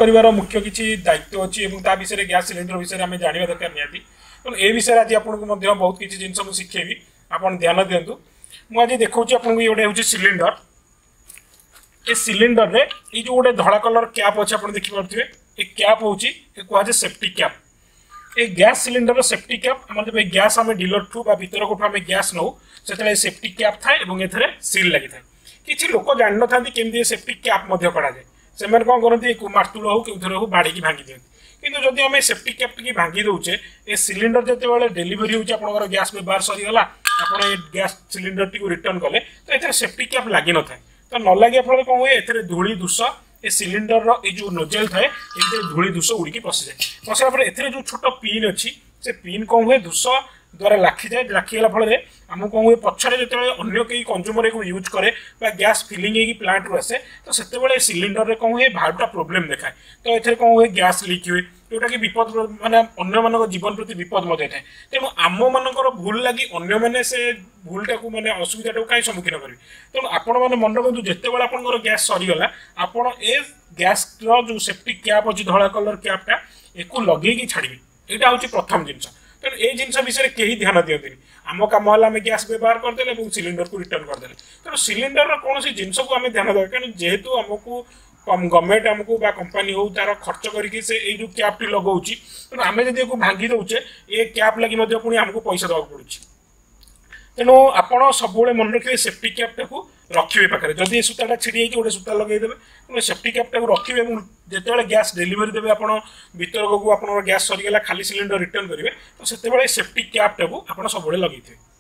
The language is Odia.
କରିବାର ମୁଖ୍ୟ କିଛି ଦାୟିତ୍ୱ ଅଛି ଏବଂ ତା ବିଷୟରେ, ଗ୍ୟାସ୍ ସିଲିଣ୍ଡର ବିଷୟରେ ଆମେ ଜାଣିବା ଦରକାର ନିହାତି। ତେଣୁ ଏ ବିଷୟରେ ଆଜି ଆପଣଙ୍କୁ ମଧ୍ୟ ବହୁତ କିଛି ଜିନିଷ ମୁଁ ଶିଖେଇବି, ଆପଣ ଧ୍ୟାନ ଦିଅନ୍ତୁ। ମୁଁ ଆଜି ଦେଖାଉଛି ଆପଣଙ୍କୁ, ଇଏ ଗୋଟେ ହେଉଛି ସିଲିଣ୍ଡର। ଏ ସିଲିଣ୍ଡରରେ ଏଇ ଯେଉଁ ଗୋଟେ ଧଳା କଲର କ୍ୟାପ୍ ଅଛି, ଆପଣ ଦେଖିପାରୁଥିବେ, ଏ କ୍ୟାପ୍ ହେଉଛି, ଏ କୁହାଯାଏ ସେଫ୍ଟି କ୍ୟାପ୍। ଏ ଗ୍ୟାସ୍ ସିଲିଣ୍ଡରର ସେଫ୍ଟି କ୍ୟାପ୍। ଆମର ଯେବେ ଗ୍ୟାସ୍ ଆମେ ଡିଲରଠୁ ବା ବିତରକଠୁ ଆମେ ଗ୍ୟାସ୍ ନେଉ, ସେତେବେଳେ ସେଫ୍ଟି କ୍ୟାପ୍ ଥାଏ ଏବଂ ଏଥିରେ ସିଲ୍ ଲାଗିଥାଏ। କିଛି ଲୋକ ଜାଣିନଥାନ୍ତି କେମିତି ଏ ସେଫ୍ଟି କ୍ୟାପ୍ ମଧ୍ୟ କରାଯାଏ। ସେମାନେ କ'ଣ କରନ୍ତି, ମାର୍ତୁଳ ହଉ କେଉଁଥିରେ ହଉ ବାଡ଼ିକି ଭାଙ୍ଗି ଦିଅନ୍ତି। କିନ୍ତୁ ଯଦି ଆମେ ସେଫ୍ଟି କ୍ୟାପ୍ ଟିକେ ଭାଙ୍ଗି ଦେଉଛେ, ଏ ସିଲିଣ୍ଡର ଯେତେବେଳେ ଡେଲିଭରି ହେଉଛି, ଆପଣଙ୍କର ଗ୍ୟାସ୍ ବ୍ୟବହାର ସରିଗଲା, ଆପଣ ଏ ଗ୍ୟାସ୍ ସିଲିଣ୍ଡରଟିକୁ ରିଟର୍ନ କଲେ, ତ ଏଥିରେ ସେଫ୍ଟି କ୍ୟାପ୍ ଲାଗିନଥାଏ। ତ ନ ଲାଗିବା ଫଳରେ କ'ଣ ହୁଏ? ଏଥିରେ ଧୂଳି ଧୂସ, ଏ ସିଲିଣ୍ଡରର ଏଇ ଯେଉଁ ନୋଜେଲ ଥାଏ, ଏଥିରେ ଧୂଳି ଧୂସ ଉଡ଼ିକି ପଶିଯାଏ। ପଶିଲା ପରେ ଏଥିରେ ଯେଉଁ ଛୋଟ ପିନ୍ ଅଛି, ସେ ପିନ୍ କ'ଣ ହୁଏ? ଧୂସ ଦ୍ୱାରା ଲାଖିଯାଏ। ଲାଖିଗଲା ଫଳରେ ଆମକୁ କ'ଣ ହୁଏ? ପଛରେ ଯେତେବେଳେ ଅନ୍ୟ କେହି କନଜ୍ୟୁମର ଏକୁ ୟୁଜ୍ କରେ ବା ଗ୍ୟାସ୍ ଫିଲିଂ ହେଇକି ପ୍ଲାଣ୍ଟରୁ ଆସେ, ତ ସେତେବେଳେ ସିଲିଣ୍ଡରରେ କ'ଣ ହୁଏ? ଭାଲ୍ଭଟା ପ୍ରୋବ୍ଲେମ୍ ଦେଖାଏ। ତ ଏଥିରେ କ'ଣ ହୁଏ? ଗ୍ୟାସ୍ ଲିକ୍ ହୁଏ, ଯେଉଁଟାକି ବିପଦ, ମାନେ ଅନ୍ୟମାନଙ୍କ ଜୀବନ ପ୍ରତି ବିପଦ ମଧ୍ୟ ଥାଏ। ତେଣୁ ଆମମାନଙ୍କର ଭୁଲ ଲାଗି ଅନ୍ୟମାନେ ସେ ଭୁଲଟାକୁ, ମାନେ ଅସୁବିଧାଟାକୁ କାହିଁ ସମ୍ମୁଖୀନ କରିବେ? ତେଣୁ ଆପଣମାନେ ମନେ ରଖନ୍ତୁ, ଯେତେବେଳେ ଆପଣଙ୍କର ଗ୍ୟାସ୍ ସରିଗଲା, ଆପଣ ଏ ଗ୍ୟାସ୍ର ଯେଉଁ ସେଫ୍ଟି କ୍ୟାପ୍ ଅଛି, ଧଳା କଲର୍ କ୍ୟାପ୍ଟା, ଏକୁ ଲଗେଇକି ଛାଡ଼ିବେ। ଏଇଟା ହେଉଛି ପ୍ରଥମ ଜିନିଷ। ତେଣୁ ଏଇ ଜିନିଷ ବିଷୟରେ କେହି ଧ୍ୟାନ ଦିଅନ୍ତିନି। ଆମ କାମ ହେଲା ଆମେ ଗ୍ୟାସ୍ ବ୍ୟବହାର କରିଦେଲେ ଏବଂ ସିଲିଣ୍ଡରକୁ ରିଟର୍ନ କରିଦେଲେ। ତେଣୁ ସିଲିଣ୍ଡରର କୌଣସି ଜିନିଷକୁ ଆମେ ଧ୍ୟାନ ଦେବା, କାରଣ ଯେହେତୁ ଆମକୁ ଗଭର୍ଣ୍ଣମେଣ୍ଟ ଆମକୁ ବା କମ୍ପାନୀ ହଉ ତାର ଖର୍ଚ୍ଚ କରିକି ସେ ଏଇ ଯେଉଁ କ୍ୟାପ୍ଟି ଲଗାଉଛି, ତେଣୁ ଆମେ ଯଦି ଏକୁ ଭାଙ୍ଗି ଦେଉଛେ, ଏ କ୍ୟାପ୍ ଲାଗି ମଧ୍ୟ ପୁଣି ଆମକୁ ପଇସା ଦେବାକୁ ପଡ଼ୁଛି। ତେଣୁ ଆପଣ ସବୁବେଳେ ମନେ ରଖିବେ, ସେଫ୍ଟି କ୍ୟାପ୍ଟାକୁ ରଖିବେ ପାଖରେ। ଯଦି ଏ ସୂତାଟା ଛିଡ଼ି ହେଇକି, ଗୋଟେ ସୂତା ଲଗେଇଦେବେ। ତେଣୁ ସେଫ୍ଟି କ୍ୟାପ୍ଟାକୁ ରଖିବେ ଏବଂ ଯେତେବେଳେ ଗ୍ୟାସ୍ ଡେଲିଭରି ଦେବେ ଆପଣ ବିତରକକୁ, ଆପଣଙ୍କର ଗ୍ୟାସ୍ ସରିଗଲା, ଖାଲି ସିଲିଣ୍ଡର ରିଟର୍ନ କରିବେ, ତ ସେତେବେଳେ ସେଫ୍ଟି କ୍ୟାପ୍ଟାକୁ ଆପଣ ସବୁବେଳେ ଲଗେଇଥିବେ।